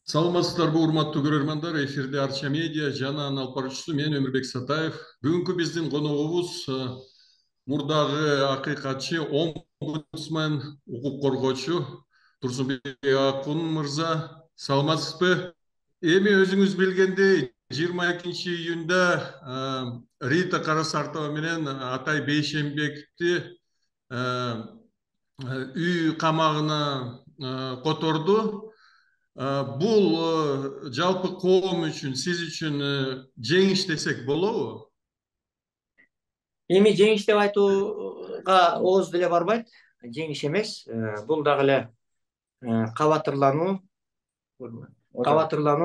Саламатсыздарбы, урматтуу көрөрмандар. Эфирде Арча медиа жана анын алып баруучусу мен Өмүрбек Сатаев. Бүгүнкү биздин коногубуз мурдагы акыйкатчы, омбудсмен, укук коргоочу Турсунбек Акун мырза. Саламатсызбы? Эми өзүңүз билгендей, 22 июнда Рита Карасартова менен Атай Бейшенбековди үй камагына которду. Бул жалпы коом үчүн, сиз үчүн жеңиш десек болобу? Эми жеңиш деп айтууга ооз деле барбайт. Жеңиш эмес. Бул дагы эле кабатырлануу.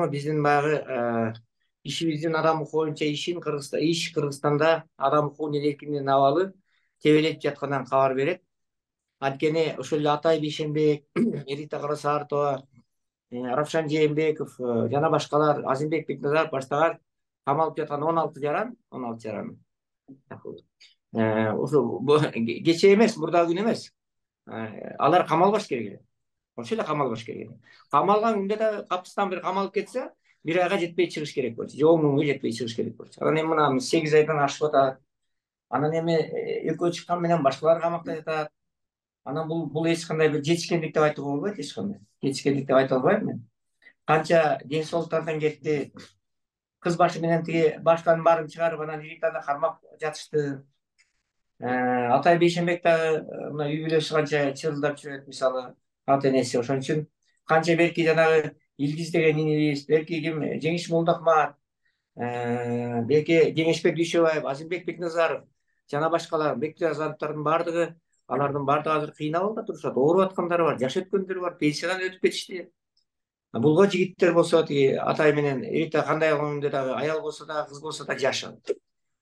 Биздин баягы ишибиздин адам укугу боюнча Кыргызстанда адам укугунун эркиндигинин абалы тебелетип жатканынан кабар берет. Анткени ошол эле Атай Бейшенбек, Рита Карасартова, Равшан Жээнбеков жана башкалар, Азимбек Бекназаров баштаган камалып жаткан 16 жаран. Ошо кече эмес, мурдагы күн эмес. Алар камалбаш керек эле. Ошол эле камалбаш керек эле. Камалган күндө да капыстан бир камалып кетсе, 1 айга жетпей чыгыш керек болчу. Же 10 күнгө жетпей чыгыш керек болчу. Анан эми мына 8 айдан ашып атат. Анан эми экөө чыккан менен башкалар камакта жатат. Анан бул эч кандай бир жетишкендик деп айтууга болбойт, эч кандай. Жетишкендик деп айта албайм мен. Канча ден соолуктардан кетти. Кыз башы менен тиги баштан баарын чыгарып, анан Ританы кармап жатышты. Атай Бейшенбек дагы мына үй бүлөсү канча чырылдап жүрөт, мисалы, ата энеси. Ошон үчүн канча берки жанагы Илгиз деген инибиз, берки ким Жеңиш Молдохмат, берки Жеңишбек Дүйшөбаев, Азимбек Бекназаров жана башкалар, Бектуразановдордун баардыгы, алардын баардыгы азыр кыйын абалда турушат. Ооруп аткандары бар, жаш өткөндөр бар, пенсиядан өтүп кетишти. Булго жигиттер болсо, тиги Атай менен Рита кандай кылганда дагы аял болсо да, кыз болсо да жаш.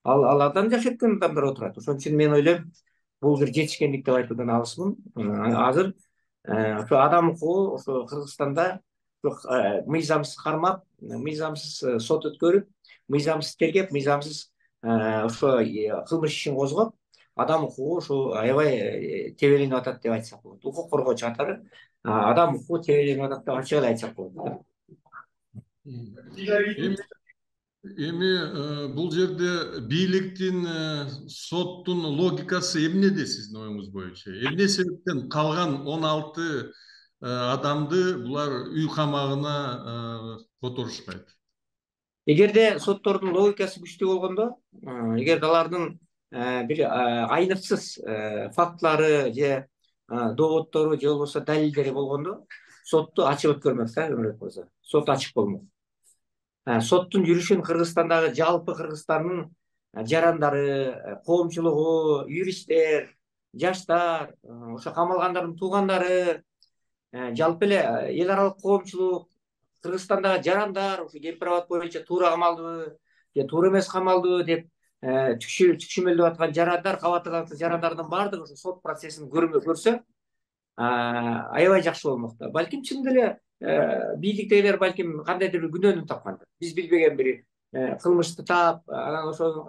Алардан жаш өткөн адамдар отурат. Ошон үчүн мен ойлойм, бул бир жетишкендик деп айтуудан алысмын. Азыр ошо адам укугу ошо Кыргызстанда мыйзамсыз кармап, мыйзамсыз сот өткөрүп, мыйзамсыз тергеп, мыйзамсыз ошо кылмыш ишин козгоп, адам укугу ошо аябай тебеленип атат деп айтсак болот. Укук коргоочу катары адам укугу тебеленип атат деп ачык эле айтсак болот. Эми бул жерде бийликтин, соттун логикасы эмнеде сиздин оюңуз боюнча? Эмне себептен калган 16 адамды булар үй камагына которушпайт? Эгерде соттордун логикасы күчтүү болгондо, эгерде алардын бир айныксыз фактылары же дооддору же болбосо далилдери болгондо, сотту ачык өткөрмөк да, Өмүрбек мырза. Сот ачык болмок. Соттун жүрүшүн Кыргызстандагы жалпы Кыргызстандын жарандары, коомчулугу, юристтер, жаштар, ошо камалгандардын туугандары, жалпы эле эл аралык коомчулук, Кыргызстандагы жарандар ошо кемпир абад боюнча туура камалдыбы же туура эмес камалдыбы деп түкшүмөлдөп аткан жарандар, кабатырланып жарандардын баардыгы ошо сот процессин көрсө, аябай жакшы болмок да. Балким чын деле бийликтегилер балким кандайдыр бир күнөөнү тапкандыр. Биз билбеген бир кылмышты таап, анан ошол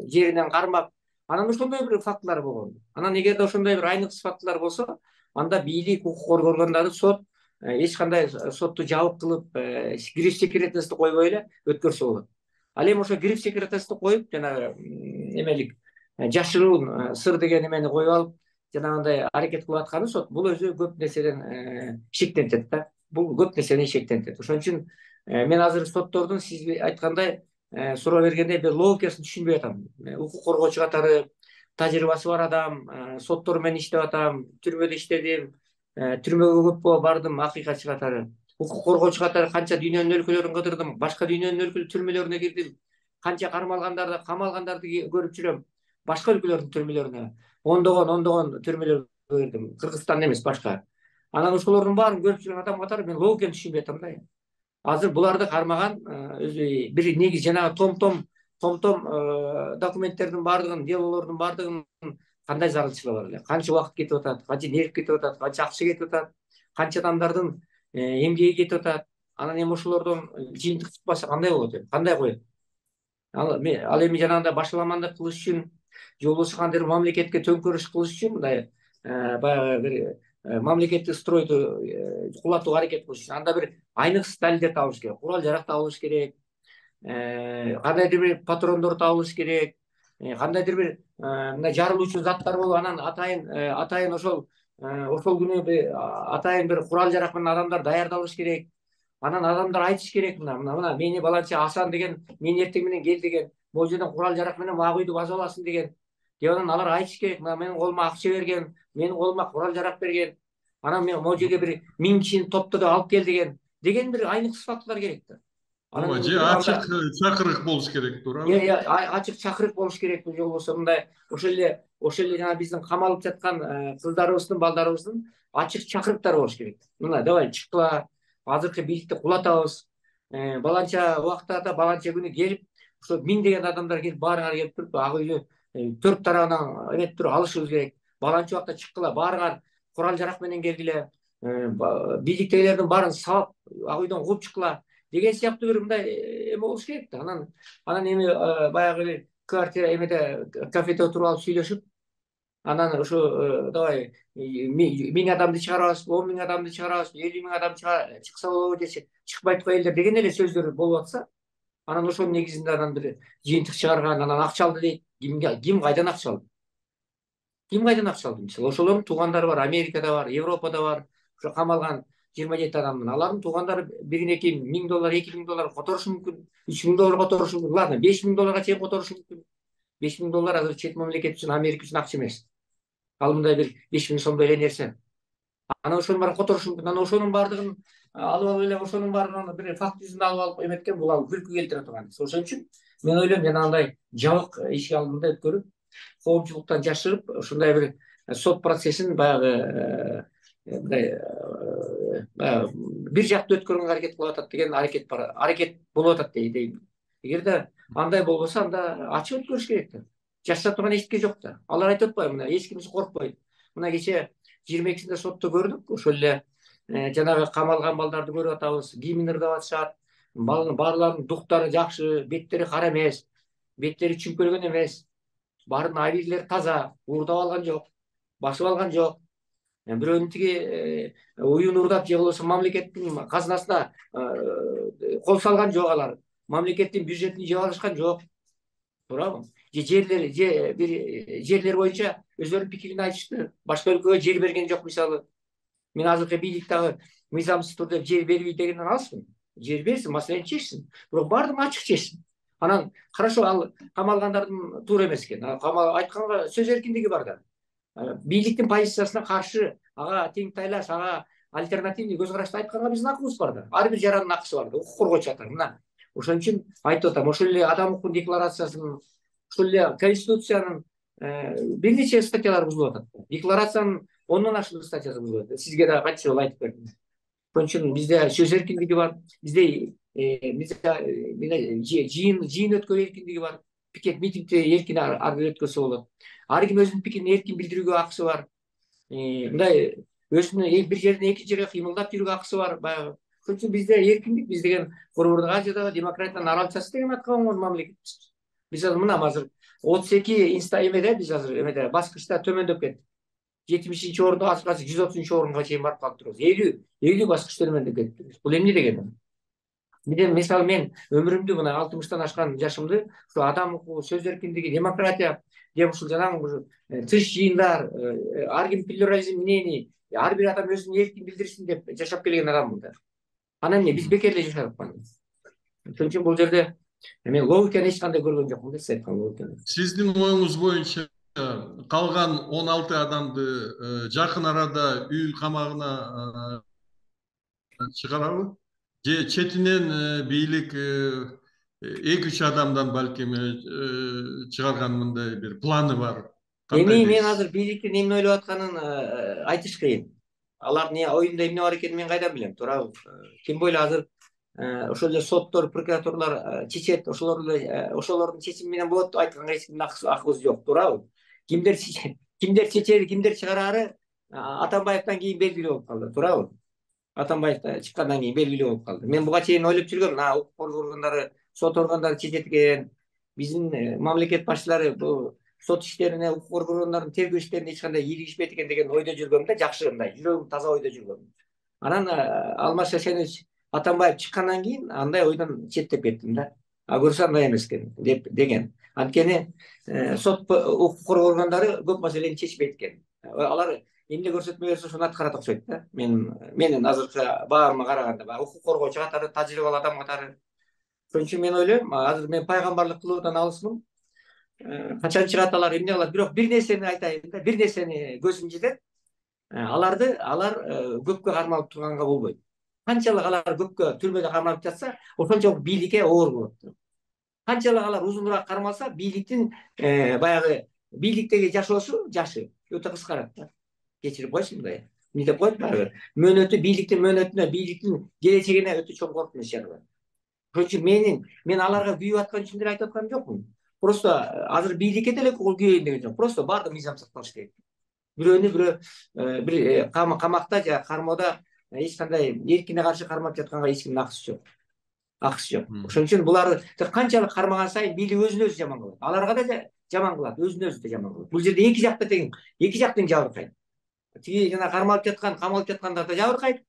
жеринен кармап, анан ошондой бир фактылар болгон. Анан эгерде ошондой бир айныксыз фактылар болсо, анда бийлик, укук коргоо органдары, сот эч кандай сотту жабык кылып, гриф секретности койбой эле өткөрсө болот. Ал эми ошо гриф секретности коюп, жанагы эмелик жашыруун сыр деген эмени коюп алып, жанагындай аракет кылып атканы сот, бул өзү көп нерседен шектентет да. Бул көп нерседен шектентет. Ошон үчүн мен азыр соттордун сиз айткандай суроо бергендей бир логикасын түшүнбөй атам. Укук коргоочу катары тажрыйбасы бар адам, соттор менен иштеп атам, түрмөдө иштедим, түрмөгө көп бардым акыйкатчы катары. Укук коргоочу катары канча дүйнөнүн өлкөлөрүн кыдырдым, башка дүйнөнүн өлкө түрмөлөрүнө кирдим. Канча кармалгандарды, камалгандарды көрүп жүрөм. Башка өлкөлөрдүн түрмөлөрүнө ондогон түрмөлөргө кирдим. Кыргызстан эмес, башка. Анан ошолордун баарын көрүп жүргөн адам катары мен логиканы түшүнбөй атам да. Азыр буларды кармаган өзү бир негиз жанагы том-том документтердин баардыгын, делолордун баардыгын кандай зарылчылыгы бар эле? Канча убакыт кетип атат, канча нерв кетип атат, канча акча кетип атат, канча адамдардын эмгеги кетип атат. Анан эми ошолордон жыйынтык чыкпаса кандай болот эми? Кандай коет? Ал эми жанагындай башаламандык кылыш үчүн, же болбосо кандайдыр мамлекетке төңкөрүш кылыш үчүн мындай баягы бир мамлекеттик стройду кулатууга аракет кылыш үчүн анда бир айныксыз далилдер табылыш керек, курал жарак табылыш керек, кандайдыр бир патрондор табылыш керек, кандайдыр бир мына жарылуучу заттар болуп, анан атайын ошол күнү атайын бир курал жарак менен адамдар даярдалыш керек. Анан адамдар айтыш керек, мына мени баланча Асан деген мен эртең менен кел деген, могу жерден курал жарак менен ак үйдү басып аласың деген. Деп анан алар айтыш керек, мына менин колума акча берген, менин колума курал жарак берген, анан мен могу жерге бир 1000 кишини топтоду алып кел деген бир айныксыз фактылар керек да. Ооба, же ачык чакырык болуш керек, туурабы? Ачык чакырык болуш керек, же болбосо мындай ошол эле жана биздин камалып жаткан кыздарыбыздын, балдарыбыздын ачык чакырыктары болуш керек. Мына давай чыккыла, азыркы бийликти кулатабыз. Баланча убактарда, баланча күнү келип, ошо миңдеген адамдар келип, баарыңар келип туруп, ак үйдү 4 тарабынан эметип туруп алышыбыз керек. Баланча убакта чыккыла, баарыңар курал жарак менен келгиле, бийликтегилердин баарын сабап ак үйдөн кууп чыккыла деген сыяктуу бир мындай эме болуш керек да. Анан эми баягы квартира эмеде кафеде отуруп алып сүйлөшүп, анан ошо давай 1000 адамды чыгарабыз, 10 000 адамды чыгарабыз, 50 000 адам чыкса болобу десе, чыкпайт коелдер деген эле сөздөр болуп атса, анан ошонун негизинде анан бир жыйынтык чыгарган, анан акча алды дейт. Ким кайдан акча алды? Ким кайдан акча алды? Мисалы ошолордун туугандары бар, Америкада бар, Европада бар, ошо камалган 27 адамдын. Алардын туугандары бирине кийин $1000, $2000 которушу мүмкүн, $3000 которушу мүмкүн. Ладно, $5000 чейин которушу мүмкүн. $5000 азыр чет мамлекет үчүн, Америка үчүн акча эмес. Ал мындай бир 5000 сомдой эле нерсе. Анан ошонун баарын которушу мүмкүн. Анан ошонун баардыгын алып алып эле, ошонун баарын бир факт жүзүндө алып эметкен, бул ал күлкү келтире турган. Ошон үчүн мен ойлойм, жанагындай жабык ишик алдында өткөрүп, коомчулуктан жашырып, ушундай бир сот процессин баягы мындай бир жактуу өткөргөнгө аракет кылып атат деген аракет болуп атат дейм. Эгерде андай болбосо, анда ачык өткөрүш керек да. Жашта турган эчтеке жок да. Алар айтып атпайбы, мына эч кимиси коркпойт. Мына кече 22-синде сотто көрдүк, ошол эле жанагы камалган балдарды көрүп атабыз, кийимин ырдап атышат. Баарларынын дуктары жакшы, беттери кара эмес, беттери чүмпөлгөн эмес. Баарынын абийлери таза, уурдап алган жок, басып алган жок. Бирөөнүн тиги уюн уурдап же болбосо мамлекеттин казынасына кол салган жок алар. Мамлекеттин бюджетин жеп алышкан жок. Туурабы? Жерлер боюнча өздөрүнүн пикирин айтышты. Башка өлкөгө жер берген жок, мисалы. Мен азыркы бийлик дагы мыйзамсыз түрдө жер бербейт дегенден алысмын. Жер берсин, маселени чечсин. Бирок баардыгын ачык чечсин. Анан хорошо, ал камалгандардын туура эмес экен. Айтканга сөз эркиндиги бар да. Бийликтин позициясына каршы, ага тең тайлаш, ага альтернативный көз карашты айтканга биздин акыбыз бар да. Ар бир жарандын акысы бар да. Укук коргоочу атар. Мына ошон үчүн айтып атам, ошол эле адам укугунун декларациясынын, ошол эле конституциянын бир нече статьялары бузулуп атат. Декларациянын 10дон ашык статьясы бузулуп атат. Сизге да канча жолу айтып бердим. Ошон үчүн бизде сөз эркиндиги бар, бизде жыйын өткөрүү эркиндиги бар, пикет митингди эркин ар бир өткөрсө болот. Ар ким өзүнүн пикирин эркин билдирүүгө акысы бар. Мындай өзүнүн бир жерден экинчи жерге кыймылдап жүрүүгө акысы бар. Баягы ошон үчүн бизде эркиндик, биз деген Борбордук Азиядагы демократиянын аралчасы деген атка конгон мамлекетпиз. Биз азыр мына азыр 32 эмеде, биз азыр эмеде баскычта төмөндөп кеттик. 70-орунда азыр 130-орунга чейин барып калып турабыз. 50 баскыч төмөндөп кеттик. Бул эмне дегени? Мисалы мен өмүрүмдү, мына 60-тан ашкан жашымды ушу адам укугу, сөз эркиндиги, демократия деп ушул жанагы тыш жыйындар, ар ким плюрализм мнений, ар бир адам өзүн эркин билдирсин деп жашап келген адаммын да. Анан эмне биз бекер эле жашап атпайбы? Ошон үчүн бул жерде мен логиканы эч кандай көргөн жокмун да, сиз айткан логиканы. Сиздин оюңуз боюнча калган 16 адамды жакын арада үй камагына чыгарабы? Же четинен бийлик 2-3 адамдан балким чыгарган мындай бир планы бар? Эми мен азыр бийликтин эмне ойлоп атканын айтыш кыйын. Алардын оюнда эмне бар экенин мен кайдан билем, туурабы? Тем более азыр ошол эле соттор, прокурорлор чечет, ошолордун чечими менен болот деп айтканга эч кимдин акыбыз жок, туурабы? Кимдер чечери, кимдер чыгарары Атамбаевден кийин белгилүү болуп калды, туурабы? Атамбаев чыккандан кийин белгилүү болуп калды. Мен буга чейин ойлоп жүргөм, укук коргоо органдары, сот органдары чечет экен. Биздин мамлекет башчылары бул сот иштерине, укук коргоончулардын тергөө иштерине эч кандай ийгишпейт экен деген ойдо жүргөм да, жакшы мындай жүрөгүм таза ойдо жүргөм. Анан Алмаз Шашенович Атамбаев чыккандан кийин андай ойдон четтеп кеттим да. А көрсө андай эмес экен деген. Анткени сот укук коргоо органдары көп маселени чечпейт экен. Алар эмне көрсөтмө берсе ошону аткарат окшойт да. Менин азыркы баарыма караганда баягы укук коргоочу катары, тажрыйбалуу адам катары. Ошон үчүн мен ойлойм, азыр мен пайгамбарлык кылуудан алысмын. Качан чыгат алар, эмне кылат? Бирок бир нерсени айтайын да, бир нерсени көзүм жетет. Алар көпкө кармалып турганга болбойт. Канчалык алар көпкө түрмөдө кармалып жатса, ошончолук бийликке оор болот. Канчалык алар узунураак кармалса, бийликтин баягы бийликтеги жашоосу жашы өтө кыскарат да. Кечирип койсун мындай. Эмне деп коет баягы? Мөөнөтү, бийликтин мөөнөтүнө, бийликтин келечегине өтө чоң коркунуч жаралат. Ошон үчүн мен аларга күйүп аткан үчүн деле айтып аткан жокмун. Просто азыр бийликке деле күйөйүн деген жок. Просто баардык мыйзам сакталыш керек. Бирөөнү бирөө бир камакта же кармоодо эч кандай эркине каршы кармап жатканга эч кимдин акысы жок. Ошон үчүн буларды канчалык кармаган сайын бийлик өзүн өзү жаман кылат. Аларга да жаман кылат, өзүн өзү да жаман кылат. Бул жерде эки жакта тең, эки жактан жабыркайт. Тиги жана кармалып жаткан, камалып жаткандар да жабыркайт,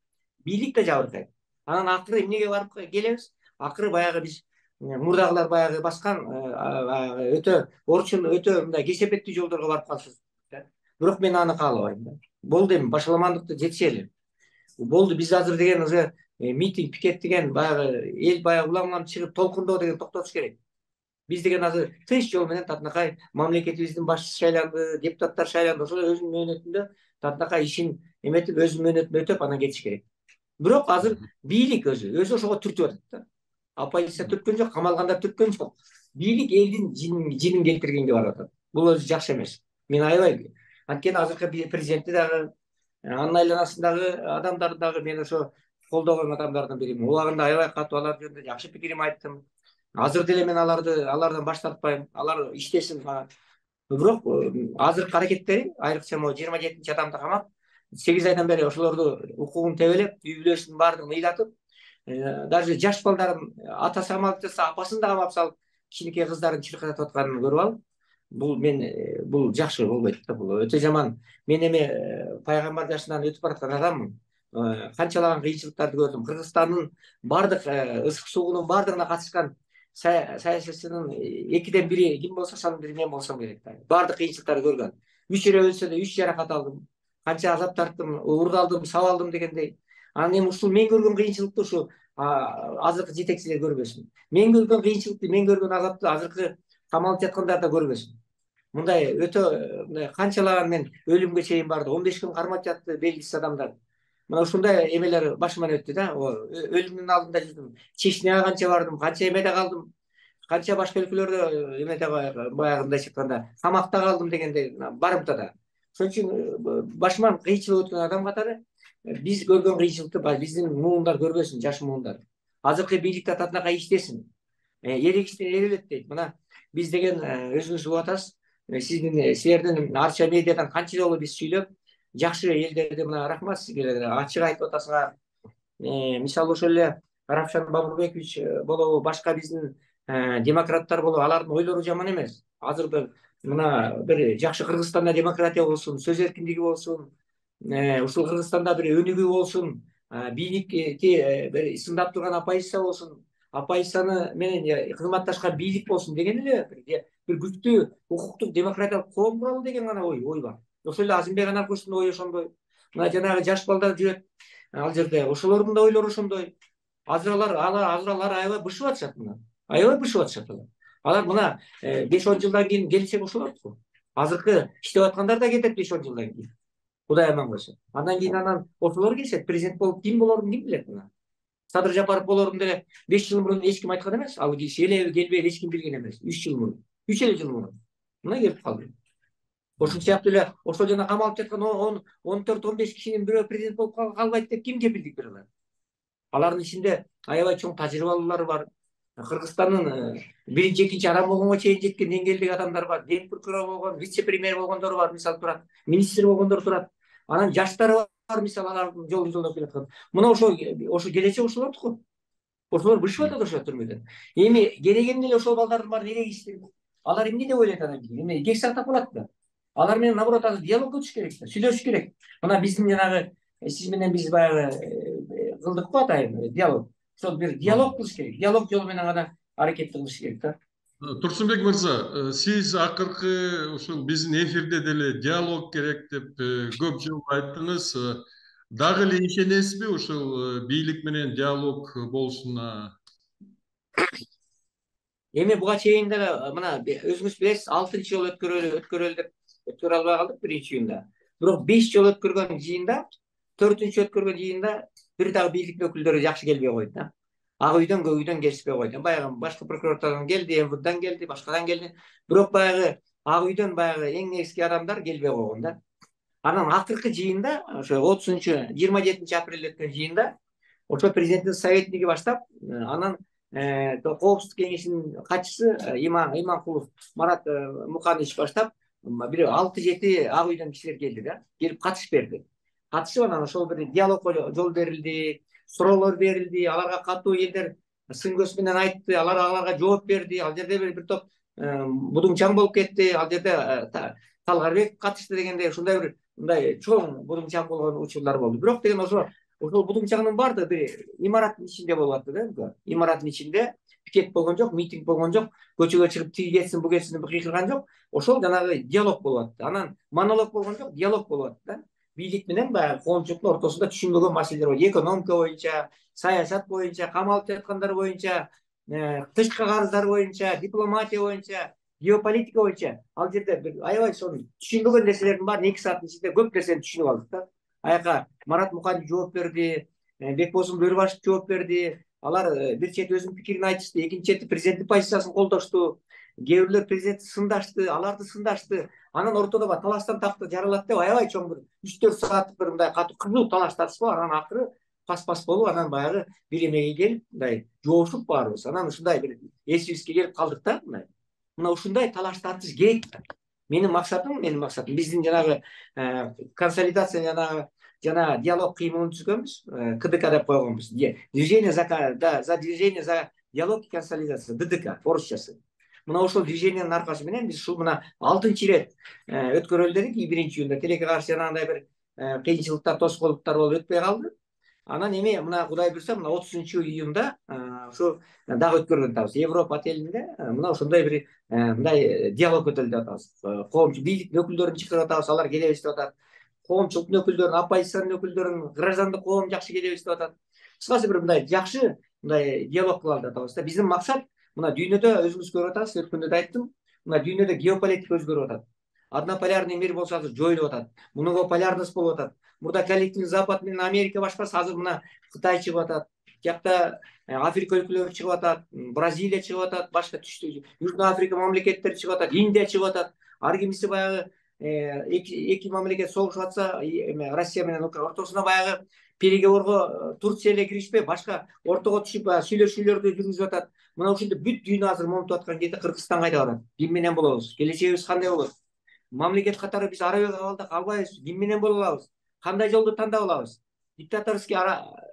бийлик да жабыркайт. Анан акыры эмнеге барып келебиз? Акыры баягы биз мурдагылар баягы баскан өтө орчун, өтө мындай кесепеттүү жолдорго барып калышыбыз. Бирок мен аны каалабайм да. Болду эми башаламандыкты жетишели. Болду, биз азыр деген уже митинг, пикет деген баягы эл баягы улам чыгып толкундоо деген токтотуш керек. Биз деген азыр тынч жол менен татынакай мамлекетибиздин башчысы шайланды, депутаттар шайланды. Ошол өзүнүн мөөнөтүндө татынакай ишин эметип, өзүнүн мөөнөтүн өтөп анан кетиш керек. Бирок азыр бийлик өзү ошого түртүп атат да. Оппозиция түрткөн жок, камалгандар түрткөн жок. Бийлик элдин жинин келтиргенге барып атат. Бул өзү жакшы эмес. Мен аябай. Анткени азыркы президенти дагы, анын айланасындагы адамдарды дагы мен ошо колдогон адамдардын биримин. Убагында аябай катуу алар жөнүндө жакшы пикирим айттым. Азыр деле мен алардан баш тартпайм. Алар иштесин. Бирок азыркы аракеттери, айрыкча могу 27 адамды камап, 8 айдан бери ошолорду укугун тебелеп, үй бүлөсүнүн баардыгын ыйлатып, даже жаш балдарын атасы камалып жатса, апасын да камап салып, кичинекей кыздарын чыркыратып атканын көрүп алып, бул жакшы болбойт да, бул өтө жаман. Мен эми пайгамбар жашынан өтүп бараткан адаммын. Канчалаган кыйынчылыктарды көрдүм. Кыргызстандын баардык ысык суугунун баардыгына катышкан саясатчынын 2ден 1 ким болсо ошонун бири мен болсом керек да. Баардык кыйынчылыктарды көргөн. 3 эле өлсө да 3 жаракат алдым. Канча азап тарттым, урдалдым, сабалдым дегендей. Анан эми ушул мен көргөн кыйынчылыкты ушу азыркы жетекчилер көрбөсүн. Мен көргөн кыйынчылыкты, мен көргөн азапты азыркы камалып жаткандар да көрбөсүн. Мындай өтө мындай канчалаган мен өлүмгө чейин барды. 15 күн кармап жатты белгисиз адамдар. Мына ушундай эмелер башыман өттү да. Өлүмдүн алдында жүрдүм. Чечняга канча бардым, канча эмеде калдым. Канча башка өлкөлөрдө эмеде баягы мындайча айтканда камакта калдым дегендей барымтада. Ошон үчүн башыман кыйынчылык өткөн адам катары биз көргөн кыйынчылыкты биздин муундар көрбөсүн, жаш муундар. Азыркы бийликте татынакай иштесин. Эрегиштен эрелет дейт. Мына биз деген өзүңүз угуп атасыз. Силердин Арча медиадан канча жолу биз сүйлөп, жакшы элдерди мына рахмат сизге ачык айтып атасыңар. Мисалы ошол эле Равшан Бабурбекович болобу, башка биздин демократтар болобу, алардын ойлору жаман эмес. Азыр мына бир жакшы Кыргызстанда демократия болсун, сөз эркиндиги болсун, ушул Кыргызстанда бир өнүгүү болсун, бийликти бир сындап турган оппозиция болсун, оппозицияны менен кызматташкан бийлик болсун деген эле бир күчтүү укуктук демократиялык коом куралы деген гана ой бар. Ошол эле Азимбек Анаркуловдун ою ошондой. Мына жанагы жаш балдар жүрөт ал жерде, ошолордун да ойлору ошондой. Азыр алар аябай бышып атышат мына. Аябай бышып атышат алар. Алар мына 5-10 жылдан кийин келечек ошолот го. Азыркы иштеп аткандар да кетет 5-10 жылдан кийин. Кудай аман койсо. Андан кийин ошолор келишет, президент болуп ким болорун ким билет мына. Садыр Жапаров болорун деле 5 жыл мурун эч ким айткан эмес. Ал келеби, келбейби эч ким билген эмес. 3 жыл мурун. 3 эле жыл мурун. Мына келип калды. Ошол сыяктуу эле ошол жана камалып жаткан 14-15 кишинин бирөө президент болуп калбайт деп ким кепилдик бере алат? Алардын ичинде аябай чоң тажрыйбалуулар бар. Кыргызстандын 1-2 адам болгонго чейин жеткен деңгээлдеги адамдар бар. Ден прокурор болгон, вице-премьер болгондор бар, мисалы турат. Министр болгондор турат. Анан жаштары бар, мисалы алардын жолун жолдоп келаткан. Мына ошо келечек ошолордуку. Ошолор бышып атат ошо түрмөдөн. Эми керегенде эле ошол балдардын баарын эрегиштирип Алар эмне деп ойлойт анан эме кек сактап калат да. Алар менен наоборот азыр диалогго түшүш керек да, сүйлөшүш керек. Мына биздин жанагы сиз менен биз баягы кылдык го атайын диалог. Ошол бир диалог кылыш керек. Диалог жолу менен гана аракет кылыш керек да. Турсунбек мырза, сиз акыркы ушул биздин эфирде деле диалог керек деп көп жолу айттыңыз. Дагы эле ишенесизби ушул бийлик менен диалог болушуна? Эми буга чейин деле мына өзүңүз билесиз, 6-чы жолу өткөрөлү деп өткөрө албай калдык биринчи жыйында. Бирок 5 жолу өткөргөн жыйында, 4-чү өткөргөн жыйында бир дагы бийлик өкүлдөрү жакшы келбей койду да. Ак үйдөн, көк үйдөн келишпей койду. Баягы башкы прокуратурадан келди, МВДдан келди, башкадан келди. Бирок баягы ак үйдөн баягы эң негизги адамдар келбей койгон да. Анан акыркы жыйында, ошо 30-чу 27 апрелде өткөн жыйында, ошо президенттин советниги баштап, анан Коопсуздук кеңешинин катчысы Иманкулов Марат Муканович баштап бир 6-7 ак үйдөн кишилер келди да, келип катышып берди. Катышып анан ошол бир диалогго жол берилди, суроолор берилди, аларга катуу элдер сын көз менен айтты, аларга жооп берди. Ал жерде бир топ будуңчаң болуп кетти, ал жерде Талгарбек катышты дегендей ушундай бир мындай чоң будуңчаң болгон учурлар болду. Бирок деген ошол будуңчаңдын баардыгы бир имараттын ичинде болуп атты да. Имараттын ичинде пикет болгон жок, митинг болгон жок, көчөгө чыгып тиги кетсин, бу кетсин деп кыйкырган жок. Ошол жанагы диалог болуп атты. Анан монолог болгон жок, диалог болуп атты да. Бийлик менен баягы коомчулуктун ортосунда түшүнбөгөн маселелер бар. Экономика боюнча, саясат боюнча, камалып жаткандар боюнча, тышкы карыздар боюнча, дипломатия боюнча, геополитика боюнча. Ал жерде бир аябай ошол түшүнбөгөн нерселердин баарын 2 сааттын ичинде көп нерсени түшүнүп алдык да. Аяка Марат Муканович жооп берди, Бекбосун Бөрүбашев жооп берди. Алар бир чети өзүнүн пикирин айтышты, экинчи чети президенттин позициясын колдошту. Кээ бирлер президентти сындашты, аларды сындашты. Анан ортодо бар талаштан такты жаралат деп аябай чоң бир 3-4 сааттык бир мындай катуу кызуу талаш тартышып, анан акыры пас болуп, анан баягы бир эмеге келип, мындай жоошуп баарыбыз. Анан ушундай бир эсибизге келип калдык да, мындай. Мына ушундай талаш тартыш керек. Менин максатым биздин жанагы консолидация жана диалог кыймылын түзгөнбүз, КДК деп койгонбуз. Движение за движение за диалог и консолидация, ДДК орусчасы. Мына ошол движениянын аркасы менен биз ушул мына 6-чы ирет өткөрөлү дедик. 1-июнда тилекке каршы жанагындай бир кыйынчылыктар, тоскоолдуктар болуп өтпөй калды. Анан эми мына Кудай буйрса, мына 30-июнда ушу дагы өткөргөн атабыз. Европа отелинде мына ошондой бир мындай диалог өтөлү деп атабыз. Коомчу бийлик өкүлдөрүн чакырып атабыз, алар келебиз деп атат. Коомчулуктун өкүлдөрүн, оппозициянын өкүлдөрүн, граждандык коом жакшы келебиз деп атат. Кыскасы бир мындай жакшы мындай диалог кылалы деп атабыз да. Биздин максат мына дүйнөдө өзүңүз көрүп атасыз, өткөндө да айттым, мына дүйнөдө геополитика өзгөрүп атат. Однополярный мир болсо азыр жоюлуп атат. Многополярность болуп атат. Мурда коллективный Запад менен Америка башкасы, азыр мына Кытай чыгып атат. Жакта Африка өлкөлөрү чыгып атат, Бразилия чыгып атат, башка түштү Южный Африка мамлекеттери чыгып атат, Индия чыгып атат. Ар кимиси баягы эки мамлекет согушуп атса, Россия менен Украина ортосуна баягы переговорго Турция эле киришпей, башка ортого түшүп сүйлөшүүлөрдү жүргүзүп атат. Мына ушинтип бүт дүйнө азыр момунтуп аткан кезде Кыргызстан кайда барат? Ким менен болобуз? Келечегибиз кандай болот? Мамлекет катары биз ара абалда калбайбыз. Ким менен боло алабыз? Кандай жолду тандап алабыз? Диктаторский,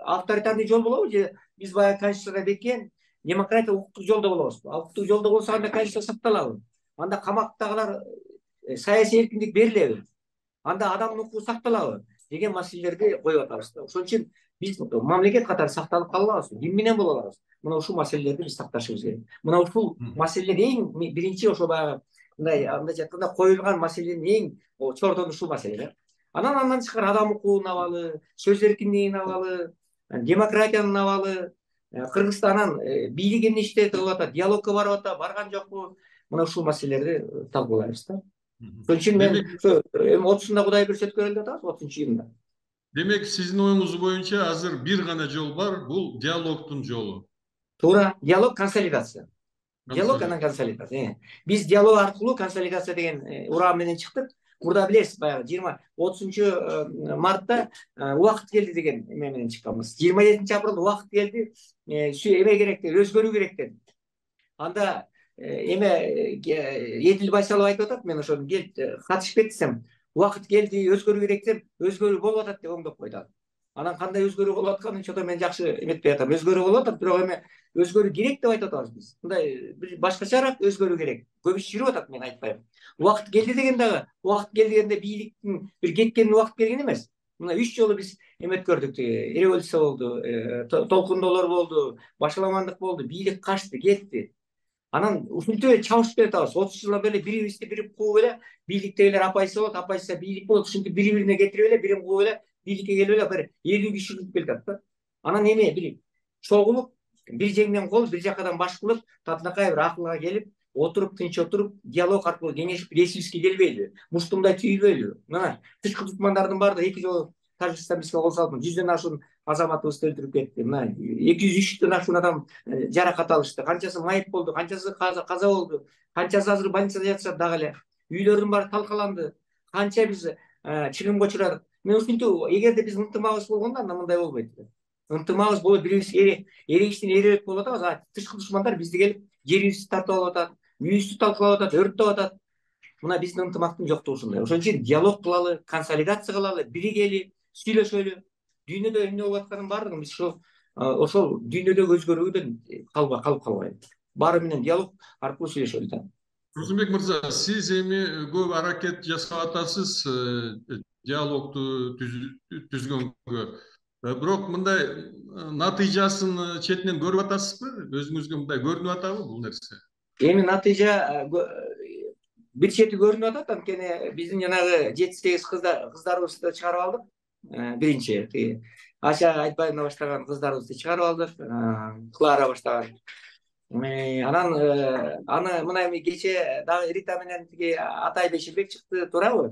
авторитарный жол болобу же биз баягы конституцияда беккен демократия, укуктук жолдо болобузбу? Укуктук жолдо болсо анда конституция сакталабы? Анда камактагылар саясий эркиндик берилеби? Анда адамдын укугу сакталабы деген маселелерди коюп атабыз да. Ошон үчүн биз мамлекет катары сакталып кала алабызбы? Ким менен боло алабыз? Мына ушул маселелерди биз такташыбыз керек. Мына ушул маселелер эң биринчи ошо баягы мындайча айтканда коюлган маселенин эң чордону ушул маселе да. Андан тышкары адам укугун абалы, сөз эркиндигин абалы, демократиянын абалы, Кыргызстанын бийлиги эмне иштеп кылып атат, диалогко барып атат, барган жокпу? Мына ушул маселелерди талкуулайбыз да. Ошон үчүн мен ошо 30-сунда Кудай буйрса өткөрөлү деп атабыз, 30-июнда. Демек, сиздин оюңуз боюнча азыр бир гана жол бар, бул диалогдун жолу. Туура, диалог, консолидация. Диалог анан консолидация. Биз диалог аркылуу консолидация деген урам менен чыктык. Мурда билесиз, баягы 30 мартта убакыт келди деген эме менен чыкканбыз. 27 апрелде убакыт келди, эме керек деп, өзгөрүү керек деп. Анда эме Эдил Байсалов айтып атат, мен ошону келип катышып кетсем, убакыт келди, өзгөрүү керек деп, өзгөрүү болуп атат деп оңдоп койду. Анан кандай өзгөрүү болуп атканын чото мен жакшы эметпей атам. Өзгөрүү болуп атат, бирок эме өзгөрүү керек деп айтып атабыз биз. Мындай бир башкачараак өзгөрүү керек. Көбү жүрүп атат, мен айтпайм. Убакыт келди деген дагы, убакыт келди дегенде бийликтин бир кеткенин убакыт келген эмес. Мына 3 жолу биз эметип көрдүк, революция болду, толкундоолор болду, башаламандык болду, бийлик качты, кетти. Анан ушинтип эле чабышып келатабыз. 30 жылдан бери бирибизди бири кууп эле бийликтегилер апайсы болот, апайсы бийлик болот. Ушинтип бири-бирине кетирип эле, бирин кууп эле бийликке келип эле бир 50 киши жүрүп келатат да. Анан эме бир чогулуп, бир жеңден кол, бир жакадан баш кылып, татынакай бир акылга келип, отуруп, тынч отуруп, диалог аркылуу кеңешип решибизге келбейби? Муштумдай түйүлбөйлүбү? Мына тышкы душмандардын баардыгы 2 жолу Тажикстан бизге кол салып, 100дөн ашуун азаматыбызды өлтүрүп кетти. Мына 203дөн ашуун адам жаракат алышты. Канчасы майып болду, канчасы каза болду, канчасы азыр больницада жатышат дагы эле. Үйлөрдүн баары талкаланды. Канча биз чыгымга учурадык. Мен ушинтип, эгерде биз ынтымагыбыз болгондо анда мындай болбойт. Ынтымагыбыз болуп, бирибизге эрегиштен эребек болуп атабыз. А тышкы душмандар бизди келип жерибизди тартып алып атат, үйүбүздү талкалап атат, өрттөп атат. Мына биздин ынтымактын жоктугу ушундай. Ошон үчүн диалог кылалы, консолидация кылалы, биригели, сүйлөшөлү. Дүйнөдө эмне болуп атканын баардыгын биз ошол дүйнөдөгү өзгөрүүдөн калып калбайбыз. Баары менен диалог аркылуу сүйлөшөлү да. Турсунбек мырза, сиз эми көп аракет жасап атасыз диалогду түзгөнгө. Бирок мындай натыйжасын четинен көрүп атасызбы? Өзүңүзгө мындай көрүнүп атабы бул нерсе? Эми натыйжа бир чети көрүнүп атат. Анткени биздин жанагы 7-8 кыздарыбызды чыгарып алдык. Биринчи Аша Айтбаевна баштаган кыздарыбызды чыгарып алдык. Клара баштаган. Анан аны мына эми кече дагы Рита менен тиги Атай Беширбек чыкты, туурабы?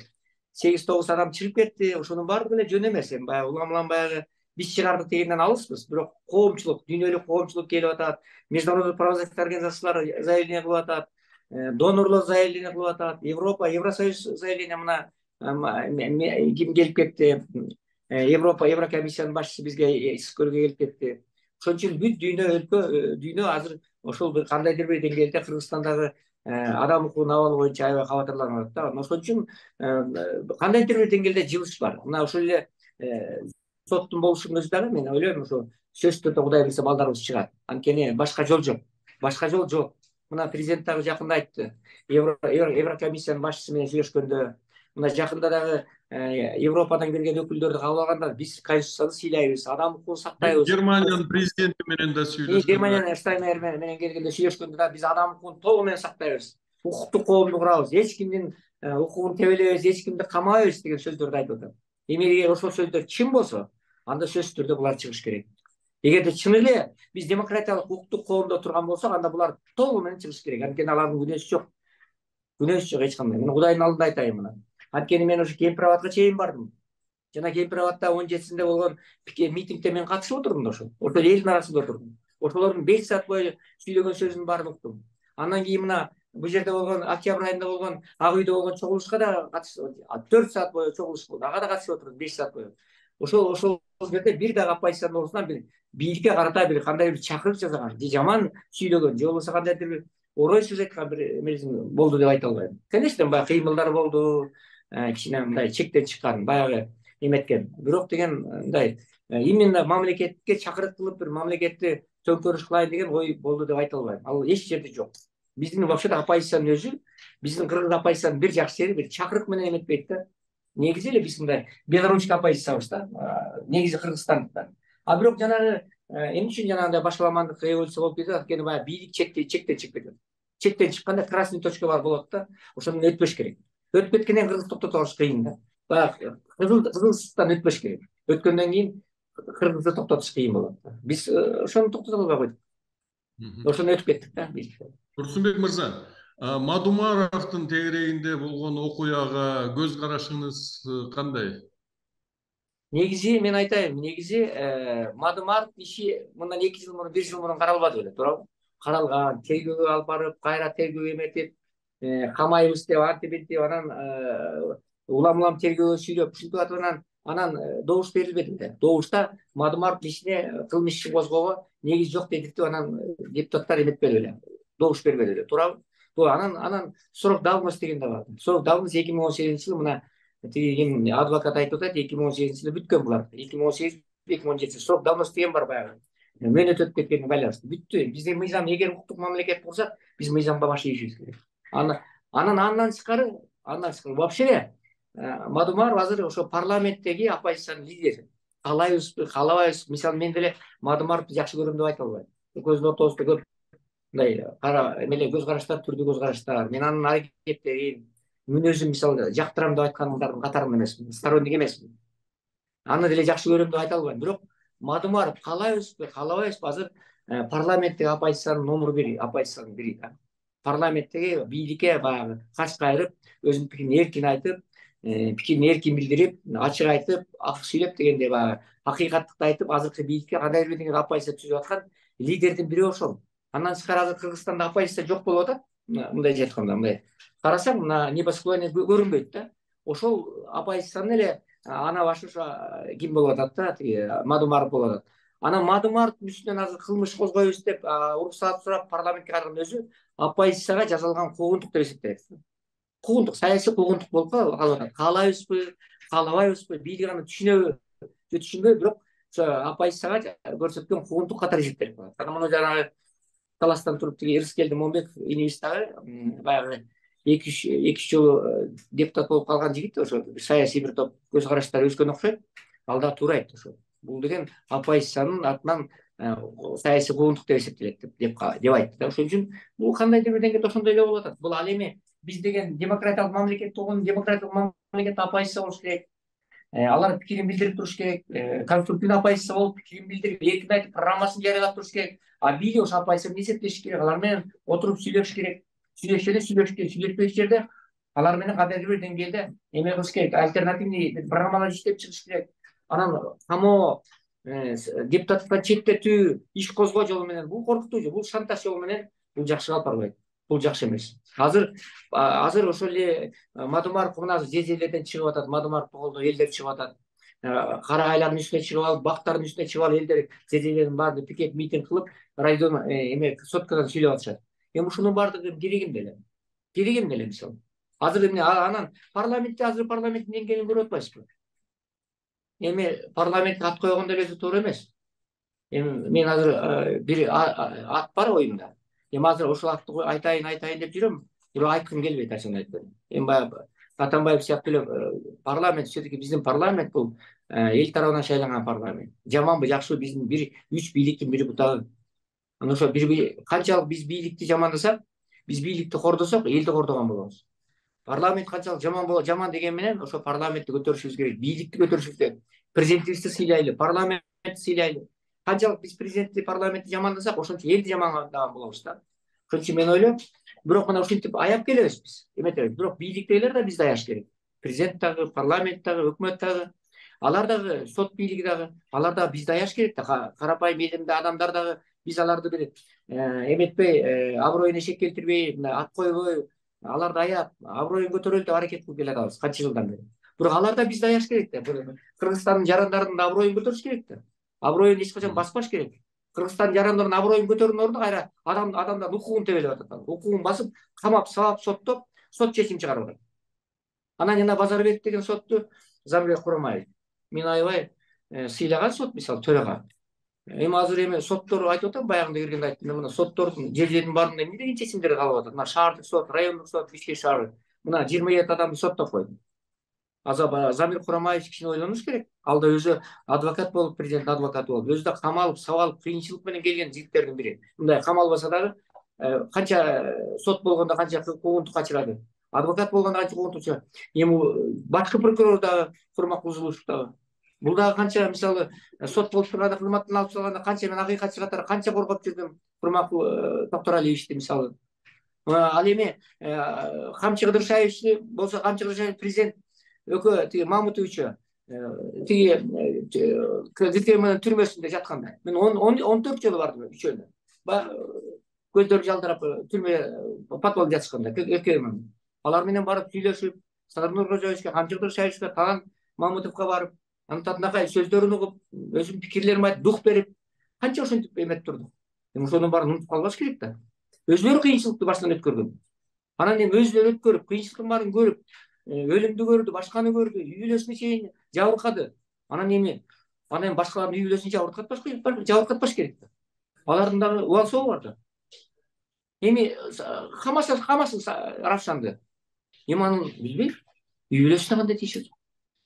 8-9 адам чыгып кетти. Ошонун баардыгы эле жөн эмес. Эми баягы улам баягы биз чыгардык дегенден алыспыз. Бирок коомчулук, дүйнөлүк коомчулук келип атат. Международный правозащита организациялары заявление кылып атат. Донорлор заявление кылып атат. Европа, Евросоюз заявление мына ким келип кетти? Еврокомиссиянын башчысы бизге көргө келип кетти. Ошон үчүн бүт дүйнө азыр ошол бир кандайдыр бир деңгээлде Кыргызстандагы адам укугунун абалы боюнча аябай кабатырланып атат да. Ошон үчүн кандайдыр бир деңгээлде жылыш бар. Мына ошол эле соттун болушунун өзү дагы мен ойлойм, ошо сөзсүз түрдө Кудай буйрса балдарыбыз чыгат. Анткени башка жол жок. Башка жол жок. Мына президент дагы жакында айтты. Еврокомиссиянын башчысы менен сүйлөшкөндө, мына жакында дагы Европадан келген өкүлдөрдү кабыл алганда биз конституцияны сыйлайбыз, адам укугун сактайбыз. Германиянын президенти менен да сүйлөшкөндө. Германиянын Штайнмайер менен келгенде сүйлөшкөндө да биз адам укугун толугу менен сактайбыз. Укуктук коомду курабыз. Эч кимдин укугун тебелебиз, эч кимди камабайбыз деген сөздөрдү айтып атат. Эгер ошол сөздөр чын болсо, анда сөзсүз түрдө булар чыгыш керек. Эгерде чын эле биз демократиялык укуктук коомдо турган болсок, анда булар толугу менен чыгыш керек. Анткени алардын күнөөсү жок. Күнөөсү жок эч кандай. Мен Кудайдын алдында айтайын мына. Анткени мен ошо Кемпирабадка чейин бардым. Жана Кемпирабадта 17-синде болгон митингде мен катышып отурдум да ошол. Ошол элдин арасында отурдум. Ошолордун 5 саат бою сүйлөгөн сөзүнүн баарын уктум. Андан кийин мына бул жерде болгон октябрь айында болгон Ак үйдө болгон чогулушка да катышып, 4 саат бою чогулуш болду. Ага да катышып отурдум 5 саат бою. Ошол жерде бир дагы оппозициянын оозунан бир бийликке карата бир кандайдыр бир чакырык жасаган, же жаман сүйлөгөн, же болбосо кандайдыр бир орой сөз айткан бир эмеси болду деп айта албайм. Конечно, баягы кыймылдар болду, кичине мындай чектен чыккан, баягы эметкен. Бирок деген мындай именно мамлекетке чакырык кылып бир мамлекетти төңкөрүш кылайын деген ой болду деп айта албайм. Ал эч жерде жок. Биздин вообще-то оппозициянын өзү, биздин кыргыз оппозициянын бир жакшы жери бир чакырык менен эметпейт да. Негизи эле биз мындай белорусский оппозициябыз да. Негизи Кыргызстандыктар. А бирок жанагы эмне үчүн жанагындай башаламандык революция болуп кетет? Анткени баягы бийлик чектен чыгып кетет. Чектен чыкканда красный точка бар болот да. Ошондон өтпөш керек. Өтүп кеткенден кийин кыргыз токтото алыш кыйын да. Баягы кызылсыздан өтпөш керек. Өткөндөн кийин кыргызды токтотуш кыйын болот. Биз ошону токтото албай койдук. Ошону өтүп кеттик да биз. Турсунбек мырза, Мадумаровдун тегерегинде болгон окуяга көз карашыңыз кандай? Негизи мен айтайын, негизи Мадумаров иши мындан 2 жыл мурун, 1 жыл мурун каралбады беле, туурабы? Каралган, тергөөгө алып барып, кайра тергөө эметип, камайбыз деп, антип анан улам тергөөгө сүйлөп, ушинтип атып анан добуш берилбеди беле. Добушта Мадумаров ишине кылмыш иши козгоого негиз жок дедиктип анан депутаттар эметпedi беле. Добуш бербеди беле, туурабы? Анан срок давности деген да бар. Срок давности 2018-жылы мына тиги адвокат айтып атат, 2018-жылы бүткөн булар. 2018-2017 срок давности деген бар баягы. мөөнөт өтүп кеткенине байланыштуу бүттү. Биздин мыйзам, эгер укуктук мамлекет курсак, биз мыйзамга баш ийишибиз керек. Андан тышкары вообще Мадумаров азыр ошо парламенттеги оппозициянын лидери. Каалайбызбы, каалабайбызбы? Мисалы, мен деле Мадумаровду жакшы көрөм деп айта албайм. Экөөбүздүн ортобузда көп мындай эмеле көз караштар, түрдүү көз караштар. Мен анын аракеттерин, мүнөзүн мисалы жактырам деп айткандардын катарында эмесмин, сторонник эмесмин. Аны деле жакшы көрөм деп айта албайм. Бирок Мадумаров каалайбызбы, каалабайбызбы, азыр парламенттеги оппозициянын номер бири, оппозициянын бири. Парламенттеги бийликке баягы каш кайрып, өзүнүн пикирин эркин айтып, пикирин эркин билдирип, ачык айтып, акык сүйлөп дегенде баягы акыйкаттыкты айтып, азыркы бийликке кандайдыр бир деңгээлде оппозиция түзүп аткан лидердин бири ошол. Андан тышкары азыр Кыргызстанда оппозиция жок болуп атат. Мындайча айтканда, мындай карасаң, мына небосклоние көрүнбөйт да. Ошол оппозициянын эле ана башы ким болуп атат да, тиги Мадумаров болуп атат. Анан Мадумаровдун үстүнөн азыр кылмыш козгойбуз деп уруксаат сурап парламентке кайрылган өзү оппозицияга жасалган куугунтук деп эсептелет. Куугунтук, саясий куугунтук болуп калып атат. Каалайбызбы, каалабайбызбы, бийлик аны түшүнөбү, түшүнбөйбү, бирок ошо оппозицияга көрсөткөн куугунтук катары эсептелип калат. Анан муну жанагы таластан туруп тиги Ирскелди Момбек инибиз дагы баягы 2-3 жолу депутат болуп калган жигит, ошо саясий бир топ көз караштары өскөн окшойт. Ал да туура айтты ошо. Бул деген оппозициянын атынан саясий куугунтук деп эсептелет деп айтты да. Ошон үчүн бул кандайдыр бир деңгээлде ошондой эле болуп атат. Бул ал эми биз деген демократиялык мамлекет болгон, демократиялык мамлекетте оппозиция болуш керек. Алар пикирин билдирип туруш керек. Конструктивдүү оппозиция болуп пикирин билдирип, эркин айтып, программасын жарыялап туруш керек. А бийлик ошо оппозиция менен эсептешиш керек. Алар менен отуруп сүйлөшүш керек. Сүйлөшпөйт жерде алар менен кандайдыр бир деңгээлде эме кылыш керек. Альтернативный программалар иштеп чыгыш керек. Анан камоо, депутаттыктан четтетүү, иш козгоо жолу менен бул коркутуу жол, бул шантаж жолу менен бул жакшы алып барбайт. Бул жакшы эмес. Азыр ошол эле Мадумаров мына жерлерден чыгып атат, Мадумаров колдоо элдер чыгып атат. Кара айлардын үстүнө чыгып алып, бактардын үстүнө чыгып алып, элдер жерлердин баарында пикет митинг кылып, райдон эме соткадан сүйлөп атышат. Эми ушунун баардыгы керек эмне эле мисалы. Азыр эмне анан парламенттин деңгээлин көрүп атпайсызбы? Эми парламентке ат койгондо эле туура эмес. Эми мен азыр бир ат бар оюмда. Эми азыр ошол атты айтайын деп жүрөм, бирок айткым келбейт, ачыгын айтып. Эми баягы Атамбаев сыяктуу эле парламент, все-таки биздин парламент бул эл тарабынан шайланган парламент. Жаманбы, жакшыбы, биздин 3 бийликтин бири бутагы. Анан ошо канчалык биз бийликти жамандасак, биз бийликти кордосок, элди кордогон болобуз. Парламент канчалык жаман деген менен ошо парламентти көтөрүшүбүз керек, бийликти көтөрүшүбүз керек. Президентибизди сыйлайлы, парламентти сыйлайлы. Канчалык биз президентти, парламентти жамандасак, ошончо элди жамандаган болобуз да. Ошон үчүн мен ойлойм, бирок мына ушинтип аяп келебиз биз. Эметебиз, бирок бийликтегилер да бизди аяш керек. Президент дагы, парламент дагы, өкмөт дагы, алар дагы, сот бийлиги дагы, алар дагы бизди аяш керек да. Карапайым элимде адамдар дагы биз аларды бир эметпей, аброюн эшек келтирбей, ат койбой, аларды аяп, аброюн көтөрөлү деп аракет кылып келатабыз канча жылдан бери. Бирок алар да бизди аяш керек да. Кыргызстандын жарандарынын да аброюн көтөрүш керек да. Аброюн эч качан баспаш керек. Кыргызстандын жарандарынын аброюн көтөрүүнүн ордуна кайра адамдардын укугун тебелеп атат. Укугун басып, камап, сабап, соттоп, сот чечим чыгарып атат. Анан жана Базарбеков деген сотту Замирбек Курамаев мен аябай сыйлаган сот, мисалы төрага. Эми азыр соттор айтып атам, баягында киргенде айттым, мына соттордун жерлердин баарында эмне деген чечимдер калып атат. Мына шаардык сот, райондук сот, Бишкек шаары мына 27 адамды соттоп койду. Замир Курамаевич кичине ойлонуш керек. Ал да өзү адвокат болуп, президент адвокаты болуп, өзү да камалып, сабалып, кыйынчылык менен келген жигиттердин бири. Мындай камалбаса дагы канча сот болгондо канча куугунтук качырады. Адвокат болгондо канча куугунтук чыгат. Эми башкы прокурор дагы Курмак Кузулушев дагы. Бул дагы канча мисалы сот болуп турганда, кызматтан алып чыгылганда канча мен акыйкатчы катары канча коргоп жүрдүм Курмак Токторалиевичти мисалы. Ал эми Камчы Кыдыршаевичти болсо, Камчы Кыдыршаевич президент тиги Мамутовичу тиги КГК түрмөсүндө жатканда мен 14 жолу бардым үчөөнө. Көздөрү жалдырап түрмө подвалда жатышканда КГК. Алар менен барып сүйлөшүп, Садыр Нуркожоевичке, Камчы Кыдыршаевичке, Таган Мамутовго барып, анын сөздөрүн угуп, өзүмдүн пикирлеримди айтып, дух берип, канча ошентип эметип турдук. Эми ошонун баарын унутуп калбаш керек да. Өзүлөрү кыйынчылыкты баштан өткөргөн. Анан эми өзүлөрү өткөрүп, кыйынчылыктын баарын көрүп, өлүмдү көрдү, башканы көрдү, үй бүлөсүнө чейин жабыркады. Анан эми Анан эми башкалардын үй бүлөсүн жабыркатпаш керек да. Алардын дагы убал сообу бар да. Эми камасын Равшанды. Эми анын билбейм. Үй бүлөсүнө кандай тийишет?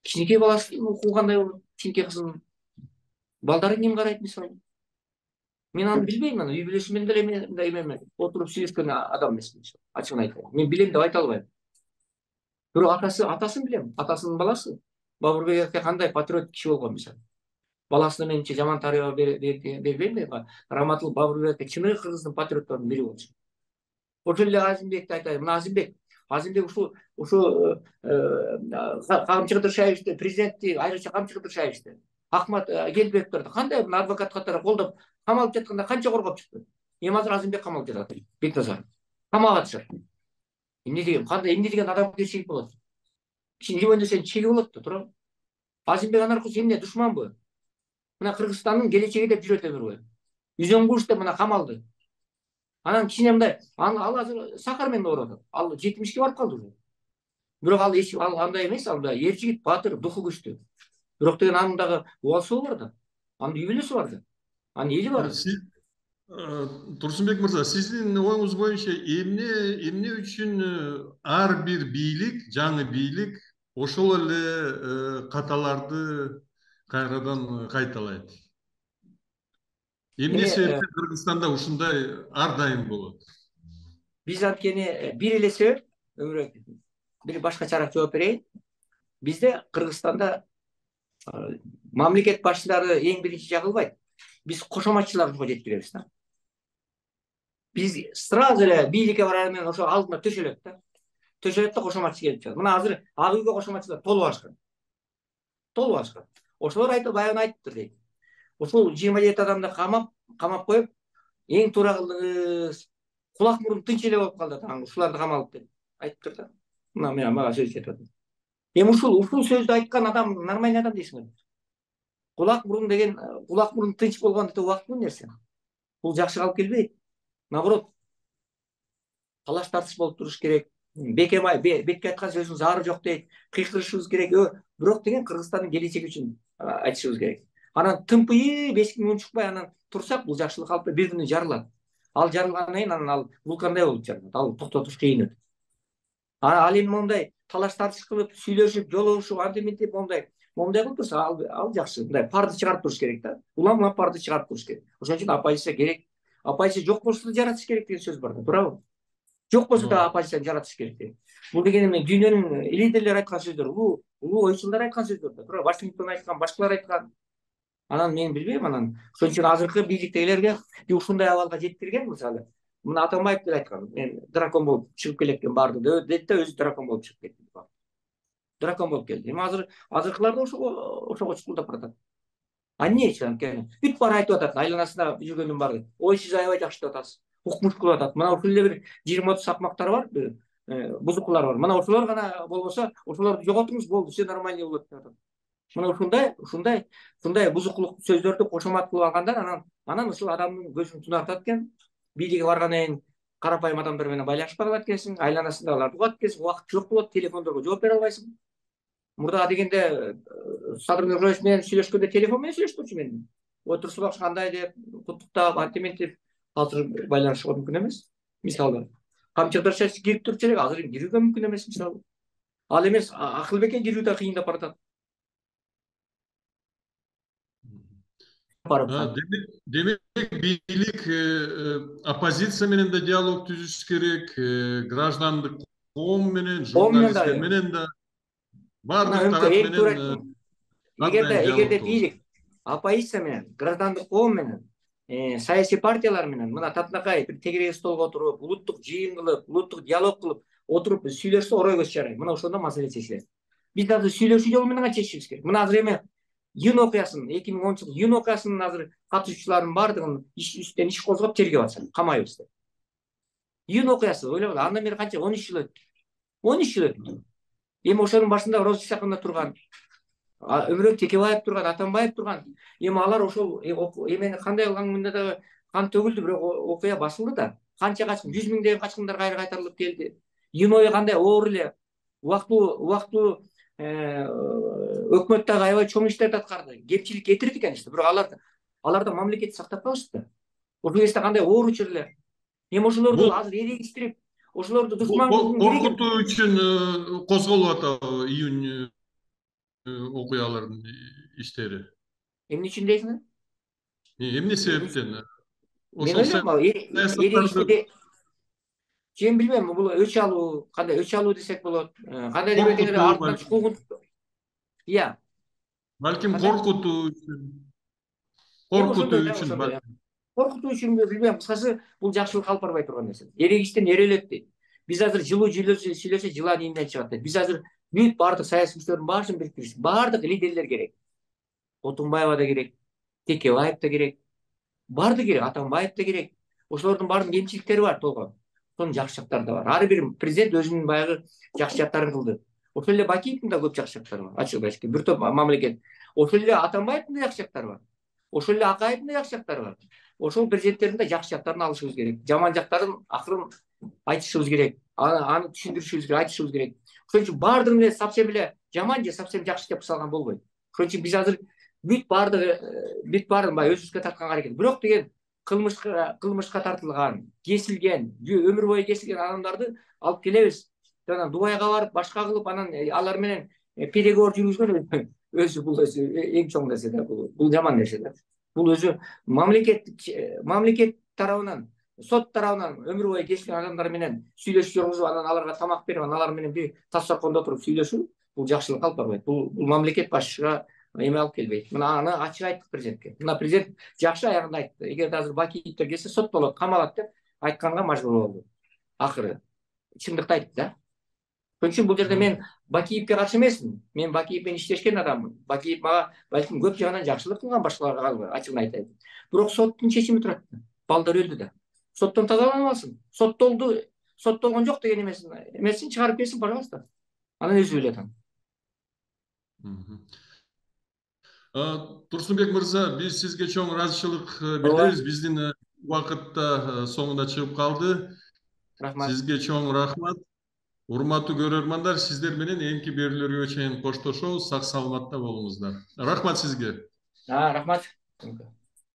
Кичинекей баласынын укугу кандай болот? Кичинекей кызынын балдарын ким карайт мисалы? Мен аны билбейм, аны үй бүлөсү менен деле мындай эме отуруп сүйлөшкөн адам эмесмин. Ачыгын айтайын. Мен билем деп айта албайм. Бирок атасын билем. Атасынын баласы. Бабурбек аке кандай патриот киши болгон мисалы. Баласына менимче жаман тарыйба бербейм деп. Раматыл Бабурбек аке чыныгы кыргыздын патриотторунун бири болчу. Ошол эле Азимбекти айтайын. Мына Азимбек ушу Камчы Кыдыршаевичти, президентти, айрыкча Камчы Кыдыршаевичти, Акмат Келбековдорду кандай мына адвокат катары колдоп камалып жатканда канча коргоп чыкты. Эми азыр Азимбек камалып жатат. Бекназаров камакка атышат. Эмне деген адамгерчилик болот? Кишинин живойнда чеги болот да, туурабы? Азимбек анаркысы эмне, душманбы? Мына Кыргызстандын келечеги деп жүрөт өмүр бою. Үзөң куш деп мына камалды. Анан кичине мындай, ал азыр сахар менен ооруп атат. Ал 70ке барып калды уже. Бирок ал андай эмес, ал эр жигит, баатыр, духу күчтүү. Бирок деген анын дагы убал сообу бар да. Анын үй бүлөсү бар да. Анын эли бар. Турсунбек мырза, сиздин оюңуз боюнча эмне үчүн ар бир бийлик, жаңы бийлик ошол эле каталарды кайрадан кайталайт? Эмне себептен Кыргызстанда ушундай ар дайым болот? Биз анткени бир эле себеп, өмүрбек бир башкачараак жооп берейин. Бизде Кыргызстанда мамлекет башчылары эң биринчи жагылбайт. Биз кошоматчыларга жеткиребиз да. Биз сразу эле бийликке барар менен ошо алдына төшөлөт да. Кошоматчы келип чыгат. Мына азыр ак үйгө кошоматчылар толуп алышкан. Ошолор баягы айтыптыр дейт. Ошол 27 адамды камап коюп, эң туура кылдыңыз. Кулак мурун тынч эле болуп калды да, ушуларды камалып деп айтыптыр да. Мына мага сөз жетип атат. Эми ушул сөздү айткан адам нормальный адам дейсиңерби? Кулак мурун тынч болгон деп убактылуу нерсе. Бул жакшы алып келбейт. Наоборот, талаш тартыш болуп туруш керек. Бекке айткан сөзүнүн заары жок дейт. Кыйкырышыбыз керек. Бирок деген Кыргызстандын келечеги үчүн айтышыбыз керек. Анан тымпыйып эчкиң унчукпай анан турсак, бул жакшылык алып бир күнү жарылат. Ал жарылгандан кийин анан ал вулкандай болуп жарылат. Ал токтотуш кыйын өтөт. Ал эми мондай талаш тартыш кылып, сүйлөшүп, жолугушуп, антип мондай кылып турса, ал жакшы. Мындай парды чыгарып туруш керек да. Улам парды чыгарып туруш керек. Ошон үчүн оппозиция керек. Оппозиция жок болсо да жаратыш керек деген сөз бар да, туурабы? Жок болсо да оппозицияны жаратыш керек дейт. Бул деген эми дүйнөнүн лидерлери айткан сөздөр, улуу ойчулдар айткан сөздөр да, туура. Вашингтон айткан, башкалар айткан. Анан мен билбейм, анан ошон үчүн азыркы бийликтегилерге ушундай абалга жеткирген, мисалы. Мына Атамбаев деле айткан, мен дракон болуп чыгып келеткен барды дейт да, өзү дракон болуп чыгып кетти. Дракон болуп келди. Эми азыркылар да ошого чукулдап баратат. А эмнечи анткени бүт баары айтып атат, айланасында жүргөндүн баары. Ой, сиз аябай жакшы деп атасыз. Укмуш кылып атат. Мына ушул эле бир 20-30 сакмактар бар, бузукулар бар. Мына ошолор гана болбосо, ошолорду жоготуңуз болду, все нормально болот деп атат. Мына ушундай бузукулук сөздөрдү кошомат кылып алгандар анан ушул адамдын көзүн тунартат экен. Бийликке баргандан кийин карапайым адамдар менен байланышпай калат экенсиң, айланасындагыларды угат экенсиң, убакыт жок болот, телефондорго жооп бере албайсың. Мурда дегенде Садыр Нуржоевич менен сүйлөшкөндө телефон менен сүйлөшкөнчү мен. Турсунбек кандай деп, куттуктап, антиментип азыр байланышууга мүмкүн эмес. Мисалы, Камчы Кыдыршаевич кирип турчу элек, азыр кирүүгө мүмкүн эмес мисалы. Ал эмес, Акылбекке кирүү да кыйындап баратат. Демек бийлик оппозиция менен да диалог түзүш керек, граждандык коом менен, журналисттер менен да баардык тарап менен. Эгерде бийлик оппозиция менен, граждандык коом менен, саясий партиялар менен мына татынакай бир тегерек столго отуруп, улуттук жыйын кылып, улуттук диалог кылып отуруп сүйлөшсө орой көз жарайт. Мына ошондо маселе чечилет. Биз азыр сүйлөшүү жолу менен чечишибиз керек. Мына азыр эми июнь окуясын, 2010 июнь окуясынын азыр катышуучуларынын баардыгын үстүнөн иш козгоп тергеп атышат, камайбыз деп. Июнь окуясы ойлогула, андан бери канча 13 жыл өттү. 13 жыл өттү. Эми ошонун башында Роза Исаковна турган, Өмүрбек Текебаев турган, Атамбаев турган. Эми алар ошол эмени кандай кылганда дагы кан төгүлдү, бирок окуя басылды да. Канча качкын, 100 миңдеген качкындар кайра кайтарылып келди. Июнь ою кандай оор эле убактылуу өкмөт дагы аябай чоң иштерди аткарды, кемчилик кетирди, конечно, бирок аларда мамлекетти сактап калышты да. Ошол кезде кандай ооруч эле. Эми ошолорду Бул азыр эрегиштирип, ошолорду бул душман кылгың керек эмес. коркутуу үчүн козголуп атабы июнь окуяларынын иштери? Эмне үчүн дейсиңер? Эмне Эмне үчүн? себептен? Мен Ошол ойлойм, саясаттарды эрегиштиде мен билбейм, бул өч алуу, кандай өч алуу десек болот. Кандай деп этеңер коркутуу, артынан чукугун. Иә, балким кандай? коркутуу үчүн, Ошондой коркутуу да, үчүн ошондой. балким. Коркутуу үчүнбү билбейм. Кыскасы, бул жакшылык алып барбай турган нерсе. Эрегиштен эрелет дейт. Биз азыр жылуу сүйлөсө жылан ийинден чыгат дейт. Биз азыр бүт баардык саясий күчтөрдүн баарын бириктиришибиз. Баардык лидерлер керек. Отунбаева да керек, Текебаев да керек. Баардыгы керек, Атамбаев да керек. Ошолордун баардын кемчиликтери бар толгой. Сонун жакшы жактары да бар. Ар бир президент өзүнүн баягы жакшы жактарын кылды. Ошол эле Бакиевдин да көп жакшы жактары бар. Ачыгын айтышка, бир топ мамлекет. Ошол эле Атамбаевдин да жакшы жактары бар. Ошол эле Акаевдин да жакшы жактары бар. Ошол президенттердин да жакшы жактарын алышыбыз керек. Жаман жактарын акырын айтышыбыз керек. Аны түшүндүрүшүбүз керек, айтышыбыз керек. Ошон үчүн баардыгын эле совсем эле жаман же совсем жакшы деп салган болбойт. Ошон үчүн биз азыр бүт баарын баягы өзүбүзгө тартканга аракет. Бирок деген кылмышка тартылган, кесилген, өмүр бою кесилген адамдарды алып келебиз. Жана Дубайга барып, башка кылып, анан алар менен переговор жүргүзгөн өзү бул өзү эң чоң нерсе да. Бул жаман нерсе да. Бул өзү мамлекет тарабынан, сот тарабынан өмүр бою кесилген адамдар менен сүйлөшүү жүргүзүп, анан аларга тамак берип, анан алар менен бир таш талкондо отуруп сүйлөшүү, бул жакшылык алып барбайт. Бул мамлекет башчыга эме алып келбейт. Мына аны ачык айттык президентке. Мына президент жакшы аягында айтты. Эгерде азыр Бакиевдер келсе соттолот, камалат деп айтканга мажбур болду. Акыры чындыкты айтты да. Ошон үчүн бул жерде мен Бакиевке каршы эмесмин. Мен Бакиев менен иштешкен адаммын. Бакиев мага балким көп жагынан жакшылык кылган, башкаларга ачыгын айтайын. Бирок соттун чечими турат. Балдар өлдү да. Соттон тазаланып алсын. Соттолду, соттолгон жок деген эмесин чыгарып берсин, пожалуйста. Анан өзү билет аны. Турсунбек мырза, биз сизге чоң ыраазычылык Ооба, билдиребиз. Биздин убакыт да соңуна чыгып калды. рахмат. Сизге чоң рахмат. Урматтуу көрөрмандар, сиздер менен эмки берүүлөргө чейин коштошобуз. Сак саламатта болуңуздар. Рахмат сизге. Рахмат.